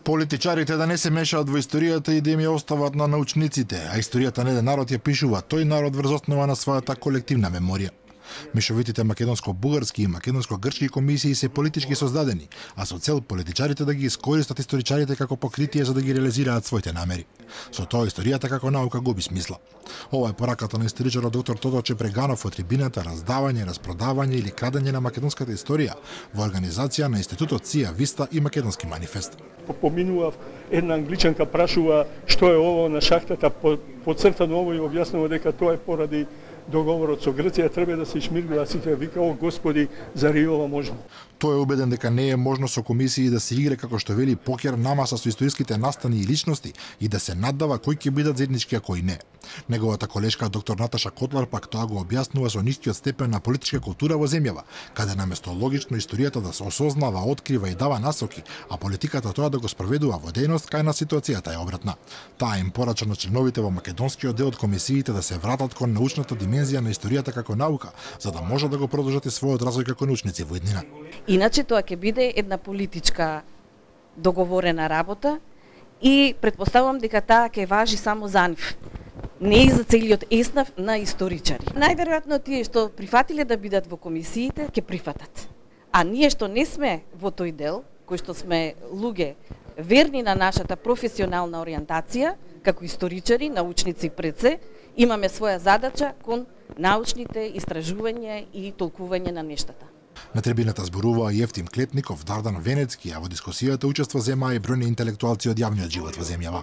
Политичарите да не се мешаат во историјата и да им ја остават на научниците, а историјата на еден народ ја пишува тој народ врз основа на својата колективна меморија. Мешовитите македонско-бугарски и македонско-грчки комисии се политички создадени, а со цел политичарите да ги искористат историчарите како покритие за да ги реализираат своите намери. Со тоа историјата како наука губи смисла. Ова е пораката на историчарот доктор Тодорче Преганов од трибината раздавање, распродавање или крадење на македонската историја во организација на Институтот Сија Виста и Македонски манифест. Поминував, една англичанка прашува што е ово на шахтата, подцртано ово и објаснува дека тоа е поради договорот со Грција, треба да се ишмиргува сите, вика, о Господи, зари ова можно? Тој е убеден дека не е можно со комисии да се игре како што вели покер на маса со историските настани и личности и да се наддава кои ќе бидат заеднички, а кои не. Неговата колешка доктор Наташа Котлар пак тоа го објаснува со нискиот степен на политичка култура во земјава, каде наместо логично историјата да се осознава, открива и дава насоки, а политиката тоа да го спроведува во дејност, кај на ситуацијата е обратна. Таа им порача на членовите во македонскиот дел од комисиите да се вратат кон научната димензија на историјата како наука, за да може да го продолжат и својот развој како научници во иднина. Иначе тоа ќе биде една политичка договорена работа и предпоставувам дека таа ќе важи само за нив, не и за целиот еснав на историчари. Најверојатно тие што прифатиле да бидат во комисиите ќе прифатат. А ние што не сме во тој дел, кои што сме луѓе верни на нашата професионална ориентација, како историчари, научници пред се, имаме своја задача кон научните истражувања и толкување на нештата. На трибината зборуваа Евтим Клетников, Дардан Венецки, а во дискусијата учество земаа и бројни интелектуалци од јавниот живот во земјава.